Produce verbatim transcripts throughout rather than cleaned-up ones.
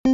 Во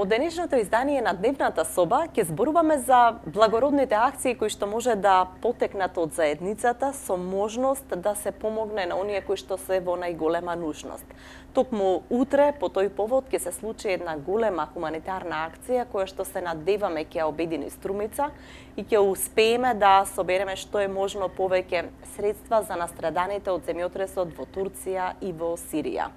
денешното издание на Дневната соба ќе зборуваме за благородните акции кои што може да потекнат од заедницата со можност да се помогне на оние кои што се во најголема нужност. Токму утре по тој повод ќе се случи една голема хуманитарна акција која што се надеваме ќе ја обедини Струмица и ќе успееме да собереме што е можно повеќе средства за настраданите од земјотресот во Турција и во Сирија.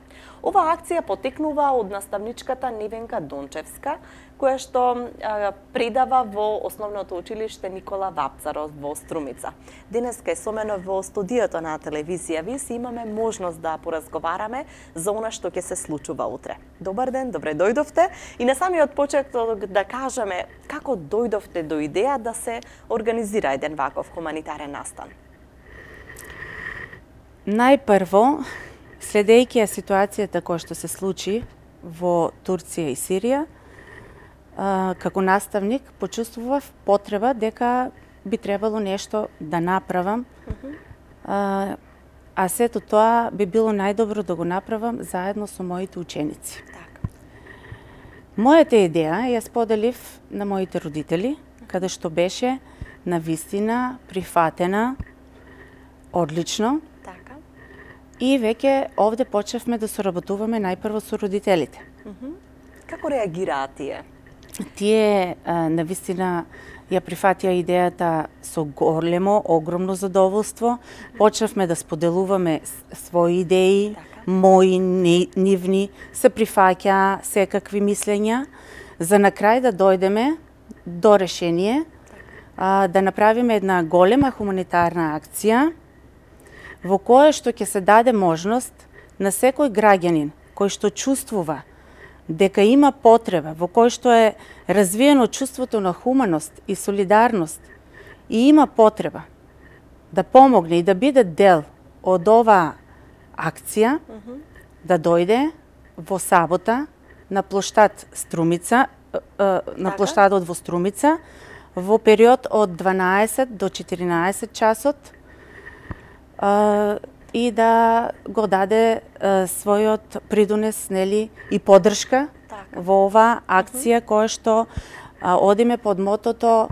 Ова акција потекнува од наставничката Невенка Дончевска, која што а, предава во Основното училиште Никола Вапцаров во Струмица. Денеска е со мене во студиото на телевизија Вис и имаме можност да поразговараме за она што ќе се случува утре. Добар ден, добре дојдовте и на самиот почеток да кажеме како дојдовте до идеја да се организира еден ваков хуманитарен настан. Најпрво, следејќи ја ситуацијата која што се случи во Турција и Сирија, како наставник почувствував потреба дека би требало нешто да направам, а, а сето тоа би било најдобро да го направам заедно со моите ученици. Так. Мојата идеја ја споделив на моите родители, каде што беше навистина прифатена одлично. И веќе овде почнавме да соработуваме најпрво со родителите. Mm-hmm. Како реагираат тие? Тие а, навистина ја прифатија идејата со големо, огромно задоволство. Почнавме да споделуваме своји идеи, така. Мои, нивни, се прифаќа секакви мислења, за на крај да дојдеме до решение, а, да направиме една голема хуманитарна акција, во кое што ќе се даде можност на секој граѓанин кој што чувствува дека има потреба, во кој што е развиено чувството на хуманост и солидарност и има потреба да помогне и да биде дел од оваа акција, mm-hmm. да дојде во сабота на плоштад Струмица, на плоштадот во Струмица, во период од дванаесет до четиринаесет часот, Uh, и да го даде uh, својот придонес, нели, и поддршка така. Во оваа акција, uh -huh. која што uh, одиме под мотото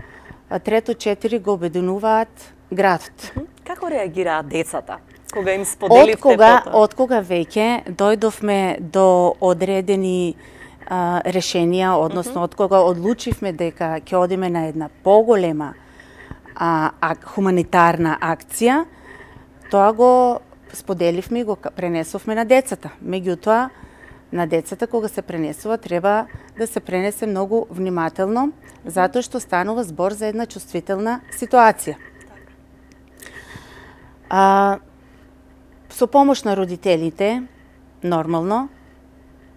uh, трето четири го обединуваат градот. Uh -huh. Како реагираат децата кога им споделивте од кога, фото? Од кога веќе дојдовме до одредени uh, решенија, односно uh -huh. од кога одлучивме дека ќе одиме на една поголема uh, ак, хуманитарна акција, тоа го споделивме и го пренесовме на децата. Меѓутоа, на децата кога се пренесува треба да се пренесе многу внимателно, затоа што станува збор за една чувствителна ситуација. А, со помош на родителите, нормално,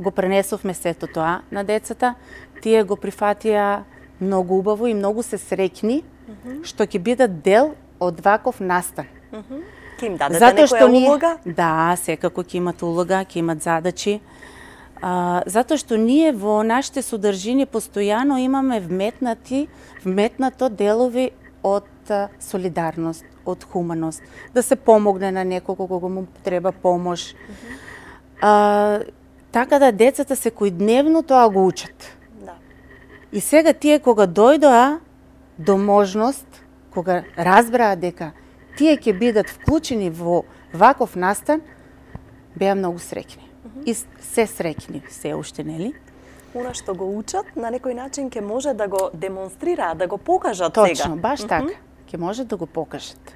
го пренесовме сето тоа на децата. Тие го прифатија многу убаво и многу се среќни mm-hmm. што ќе бидат дел од ваков настан. Mm-hmm. Ќе им дадете Затоа што некоја улога? Да, секако ќе имат улога, ќе имат задачи. А, затоа што ние во нашите содржини постојано имаме вметнати, вметнато делови од а, солидарност, од хуманост, да се помогне на некого кога му треба помош. Mm-hmm. а, така да децата секојдневно тоа го учат. Да. И сега тие кога дојдоа до можност, кога разбраа дека тие ќе бидат вклучени во ваков настан, беа многу среќни. Mm-hmm. И се среќни, се уште, нели? Она што го учат, на некој начин ќе може да го демонстрираат, да го покажат Точно, сега. Точно, баш mm-hmm. така. Ќе може да го покажат.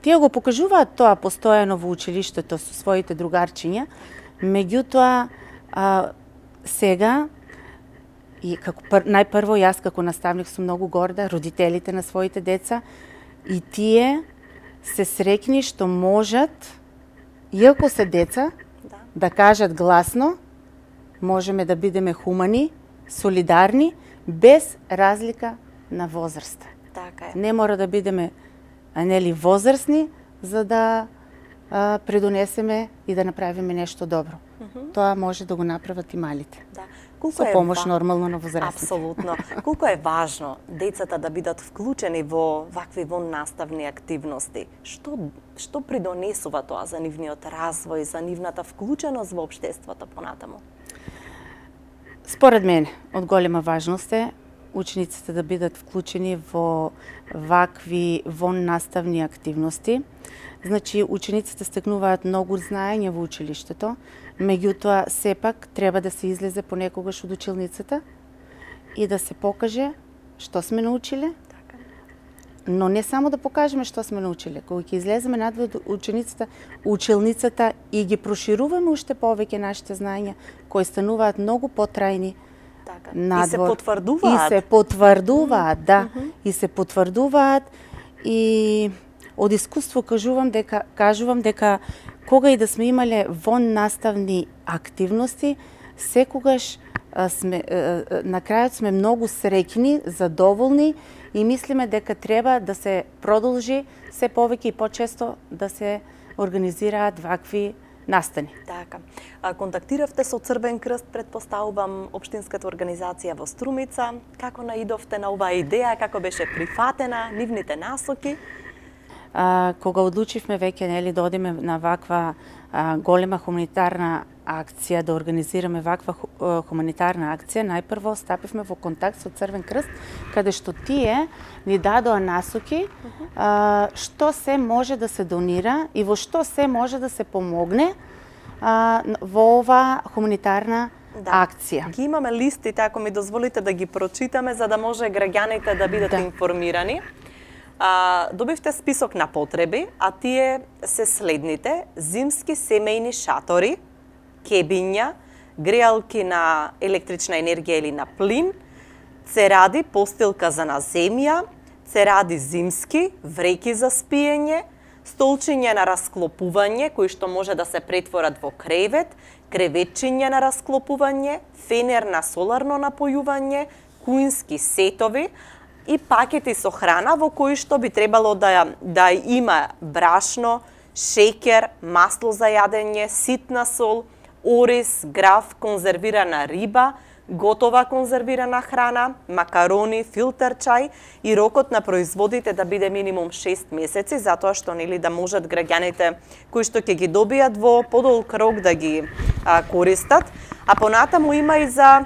Тие го покажуваат тоа постојано во училиштето со своите другарчиња, меѓутоа а, сега и како пр, најпрво јас како наставник сум многу горда, родителите на своите деца и тие се среќни што можат, иако се деца, да, да кажат гласно, можеме да бидеме хумани, солидарни, без разлика на возраста. Така е. Не мора да бидеме, нели, возрастни, за да а, предонесеме и да направиме нешто добро. Mm -hmm. Тоа може да го направат и малите. Да. Колку Со е помош ва... нормално на возрастните. Апсолутно. Колку е важно децата да бидат вклучени во вакви воннаставни активности? Што што придонесува тоа за нивниот развој, за нивната вклученост во општеството понатаму? Според мене, од голема важност е учениците да бидат вклучени во вакви воннаставни активности. Значи, учениците стекнуваат многу знаење во училиштето, меѓутоа, сепак, треба да се излезе понекогаш од училницата и да се покаже што сме научиле, но не само да покажеме што сме научиле. Кога ќе излеземе надвор од ученицата, училницата и ги прошируваме уште повеќе нашите знаења, кои стануваат многу потрајни надвор. И се потврдуваат. И се потврдуваат, да. Mm -hmm. И се потврдуваат и од искуство кажувам дека кажувам дека кога и да сме имале воннаставни активности, секогаш а, сме а, на крајот сме многу среќни, задоволни и мислиме дека треба да се продолжи се повеќе и почесто да се организираат вакви настани. Така. А, контактиравте со Црвен крст, предпоставувам, општинската организација во Струмица. Како наидовте на оваа идеја, како беше прифатена, нивните насоки? А, кога одлучивме веќе нели да одиме на ваква а, голема хуманитарна акција, да организираме ваква ху, хуманитарна акција, најпрво стапивме во контакт со Црвен крст, каде што тие ни дадоа насоки а, што се може да се донира и во што се може да се помогне а, во ова хуманитарна да. акција. Ги имаме листите, ако ми дозволите да ги прочитаме, за да може граѓаните да бидат да. информирани. А, добивте список на потреби, а тие се следните: зимски семејни шатори, кебиња, греалки на електрична енергија или на плин, церади, постилка за на земја, церади зимски, вреки за спиење, столчиња на расклопување, кои што може да се претворат во кревет, креветчиња на расклопување, фенер на соларно напојување, куински сетови и пакети со храна во кои што би требало да, да има брашно, шеќер, масло за јадење, ситна сол, ориз, граф, конзервирана риба, готова конзервирана храна, макарони, филтер чај и рокот на производите да биде минимум шест месеци, затоа што нели да можат граѓаните кои што ќе ги добијат во подолг рок да ги а, користат. А понатаму има и за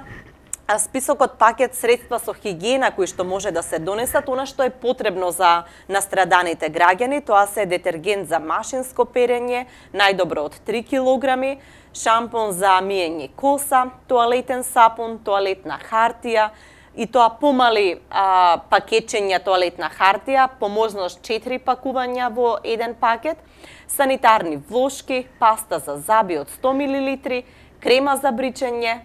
списокот пакет средства со хигиена кои што може да се донесат, она што е потребно за настраданите граѓани, тоа се детергент за машинско перење, најдобро од три килограми, шампон за миење коса, тоалетен сапун, тоалетна хартија, и тоа помали а, пакетчења тоалетна хартија, по можност четири пакувања во еден пакет, санитарни влошки, паста за заби од сто милилитри, крема за бричење,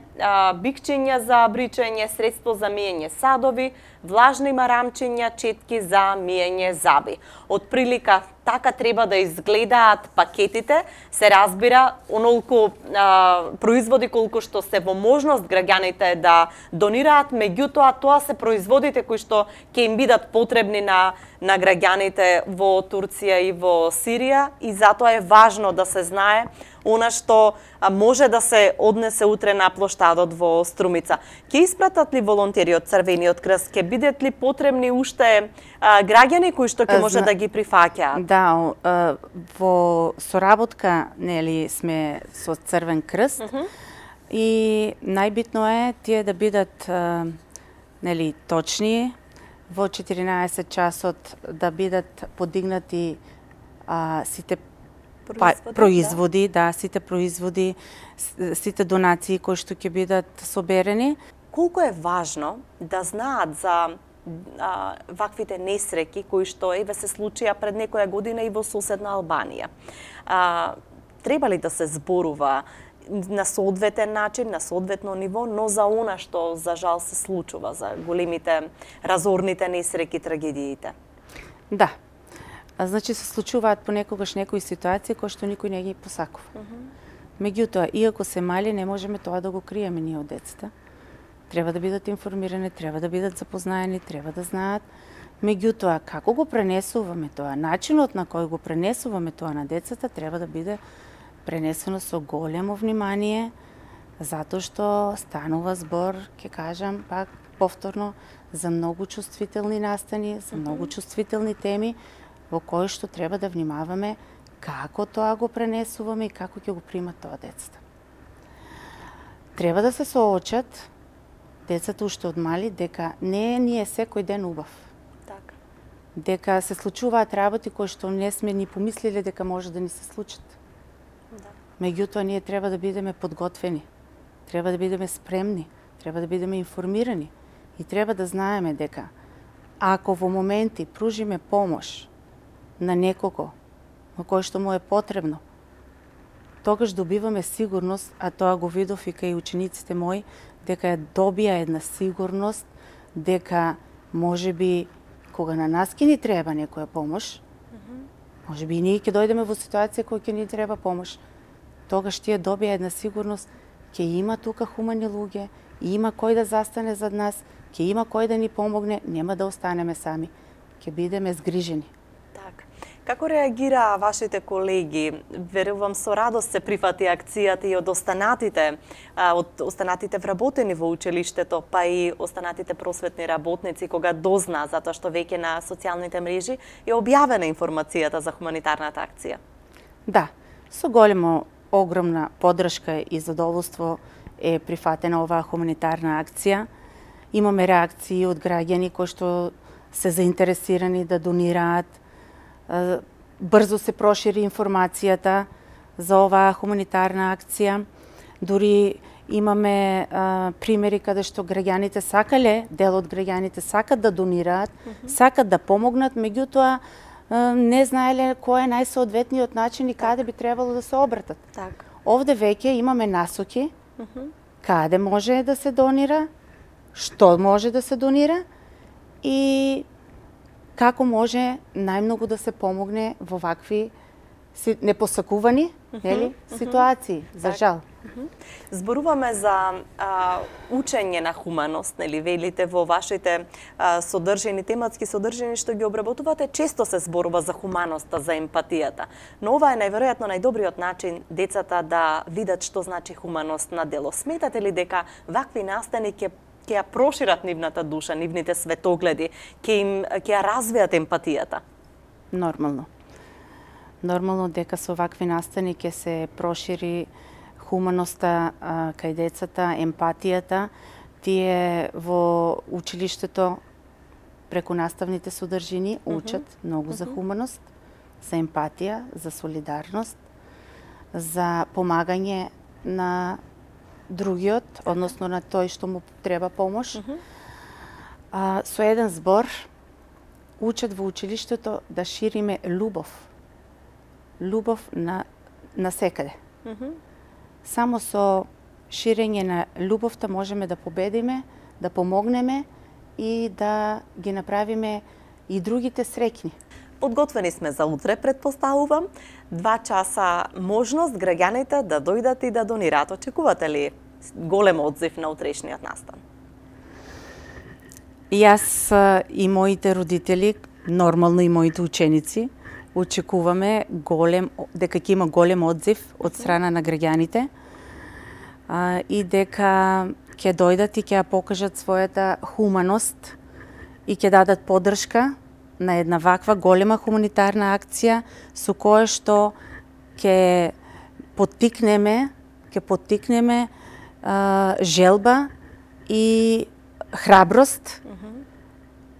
бикчиња за бричење, средство за миење садови, влажни марамчиња, четки за миење заби. Од прилика така треба да изгледаат пакетите, се разбира онолку а, производи колку што се во можност граѓаните да донираат, меѓутоа тоа се производите кои што ќе им бидат потребни на на граѓаните во Турција и во Сирија, и затоа е важно да се знае она што може да се однесе утре на плоштадот во Струмица. Ќе испратат ли волонтери од Црвениот крст? Ќе бидат ли потребни уште а, граѓани кои што ќе може да ги прифаќаат? Да, во соработка нели сме со Црвен крст, uh -huh. и најбитно е тие да бидат а, нели точни, во четиринаесет часот да бидат подигнати а, сите производи, па, производи да. да, сите производи, сите донации кои што ќе бидат соберени. Колку е важно да знаат за а, ваквите несреќи кои што еве се случија пред некоја година и во соседна Албанија. А, треба ли да се зборува на соодветен начин, на соодветно ниво, но за она што за жал се случува, за големите разорните несреќи, трагедиите? Да. А, значи се случуваат понекогаш некои ситуации кои што никој не ги посакува. Uh -huh. Меѓутоа, иако се мали, не можеме тоа да го криеме ние од децата. Треба да бидат информирани, треба да бидат запознаени, треба да знаат Меѓутоа, како го пренесуваме тоа, начинот на кој го пренесуваме тоа на децата треба да биде пренесено со големо внимание, затоа што станува збор, ќе кажам пак повторно, за многу чувствителни настани, за многу чувствителни теми, во кои што треба да внимаваме како тоа го пренесуваме и како ќе го примат тоа децата. Треба да се соочат децата уште од мали дека не ни е секој ден убав. Така. Дека се случуваат работи кои што не сме ни помислиле дека може да ни се случат. Да. Меѓутоа, ние треба да бидеме подготвени, треба да бидеме спремни, треба да бидеме информирани и треба да знаеме дека ако во моменти пружиме помош на некого на кој што му е потребно, тогаш добиваме сигурност, а тоа го видов и кај учениците мои, дека ја добија една сигурност, дека можеби кога на нас ќе ни треба некоја помош, можеби и ние ќе дојдеме во ситуација која ќе ни треба помош, тогаш тие добија една сигурност, ќе има тука хумани луѓе, има кој да застане зад нас, ќе има кој да ни помогне, нема да останеме сами, ќе бидеме згрижени. Така. Како реагира вашите колеги? Верувам со радост се прифати акцијата и од останатите, од останатите вработени во училиштето, па и останатите просветни работници кога дозна затоа што веќе на социјалните мрежи е објавена информацијата за хуманитарната акција. Да, со големо огромна поддршка и задоволство е прифатена оваа хуманитарна акција. Имаме реакции од граѓани кои што се заинтересирани да донираат. Брзо се прошири информацијата за оваа хуманитарна акција. Дури имаме а, примери каде што граѓаните сакале, дел од граѓаните сакат да донираат, mm -hmm. сакат да помогнат, меѓутоа не знаеле кој е најсоодветниот начин и каде би требало да се обратат. Так. Овде веќе имаме насоки Mm -hmm. каде може да се донира, што може да се донира и како може најмногу да се помогне во вакви непосакувани mm -hmm. нели, ситуации, mm -hmm. за жал. Mm -hmm. Зборуваме за а, учење на хуманост, нели, велите во вашите а, содржини, тематски содржини што ги обработувате, често се зборува за хуманоста, за емпатијата. Но ова е најверојатно најдобриот начин децата да видат што значи хуманост на дело. Сметате ли дека вакви настани ќе ќе ја прошират нивната душа, нивните светогледи, ќе им ќе ја развијат емпатијата? Нормално. Нормално дека со вакви настани ќе се прошири хуманоста а, кај децата, емпатијата. Тие во училиштето преку наставните содржини учат mm -hmm. многу за хуманост, за емпатија, за солидарност, за помагање на другиот, односно на тој што му треба помош. Mm -hmm. а, со еден збор учат во училиштето да шириме љубов. Љубов на, на секаде. Mm -hmm. Само со ширење на љубовта можеме да победиме, да помогнеме и да ги направиме и другите среќни. Подготвени сме за утре, предпоставувам. Два часа можност граѓаните да дојдат и да донираат. Очекувате ли голем одзив на утрешниот настан? Јас и моите родители, нормално и моите ученици, очекуваме голем, дека ќе има голем одзив од страна на граѓаните а, и дека ќе дојдат и ќе ја покажат својата хуманост и ќе дадат поддршка на една ваква голема хуманитарна акција со која што ќе поттикнеме, ќе поттикнеме а, желба и храброст, mm -hmm.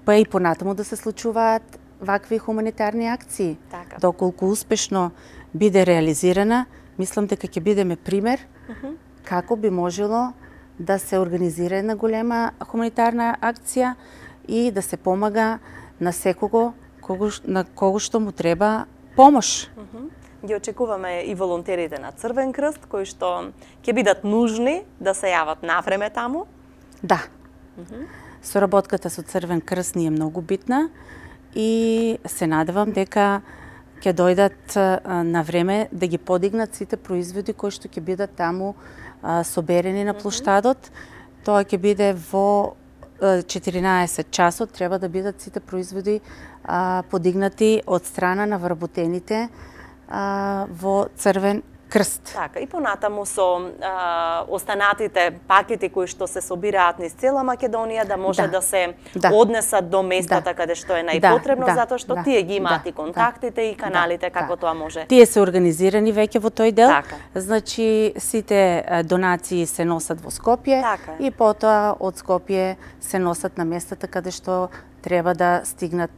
па и понатаму да се случуваат вакви хуманитарни акции. Така. Доколку успешно биде реализирана, мислам дека ќе бидеме пример mm -hmm. како би можело да се организира една голема хуманитарна акција и да се помага на секого кого, на кого што му треба помош. Mm -hmm. Ги очекуваме и волонтерите на Црвен крст, кои што ќе бидат нужни да се јават навреме таму. Да. Mm -hmm. Соработката со Црвен крст ни е многу битна и се надевам дека ќе дојдат на време да ги подигнат сите производи кои што ќе бидат таму а, соберени на плоштадот. Тоа ќе биде во четиринаесет часот треба да бидат сите производи а, подигнати од страна на вработените а, во Црвен крст. Така, и понатаму со а, останатите пакети кои што се собираат низ цела Македонија да може да, да се да. однесат до местата да. каде што е најпотребно, да. затоа што да. тие ги имаат да. и контактите да. и каналите да. како да. тоа може. Тие се организирани веќе во тој дел. Така. Значи сите донации се носат во Скопје така. и потоа од Скопје се носат на местата каде што треба да стигнат.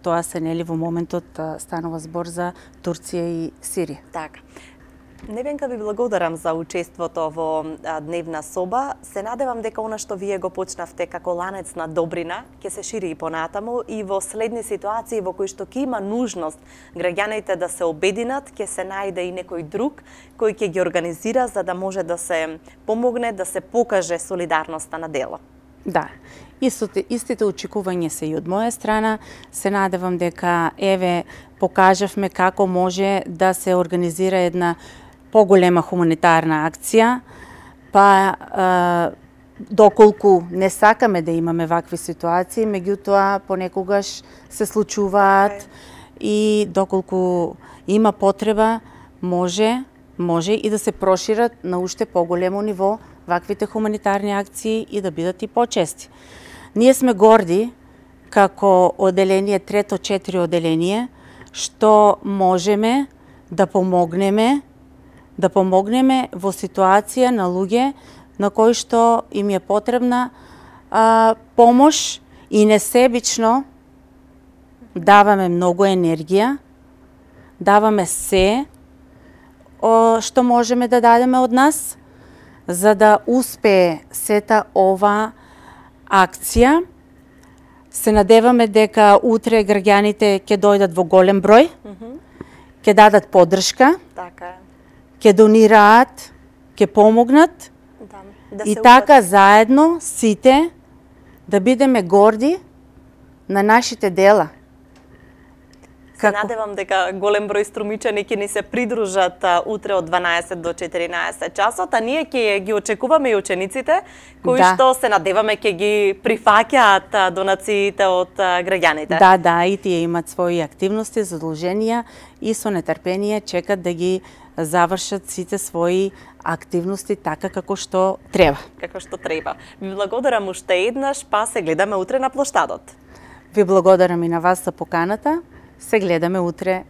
Тоа се нели во моментот станува збор за Турција и Сирија. Така. Невенка, ви благодарам за учеството во Дневна соба. Се надевам дека она што вие го почнавте како ланец на добрина ќе се шири и понатаму и во следни ситуации во кои што ќе има нужност граѓаните да се обединат, ќе се најде и некој друг кој ќе ги организира за да може да се помогне, да се покаже солидарноста на дело. Да. Истите, истите очекувања се и од моја страна. Се надевам дека еве покажавме како може да се организира една поголема хуманитарна акција, па е, доколку не сакаме да имаме вакви ситуации, меѓутоа понекогаш се случуваат okay. и доколку има потреба, може, може и да се прошират на уште поголемо ниво ваквите хуманитарни акции и да бидат и почести. Ние сме горди како оделение, трето четири оделение, што можеме да помогнеме да помогнеме во ситуација на луѓе на кои што им е потребна а, помош и несебично даваме многу енергија, даваме се о, што можеме да дадеме од нас, за да успее сета ова акција. Се надеваме дека утре граѓаните ќе дојдат во голем број, ќе mm -hmm. дадат поддршка, така е. ќе донираат, ќе помогнат да, да и така упат. Заедно сите да бидеме горди на нашите дела. Се Како? надевам дека голем број струмичани ќе ни се придружат а, утре од дванаесет до четиринаесет часот, а ние ќе ги очекуваме и учениците кои да. што се надеваме ќе ги прифаќаат донациите од а, граѓаните. Да, да, и тие имаат своји активности, задолженија и со нетрпение чекат да ги завршат сите своји активности така како што треба. Како што треба. Ви благодарам уште еднаш, па се гледаме утре на плоштадот. Ви благодарам и на вас за поканата. Се гледаме утре.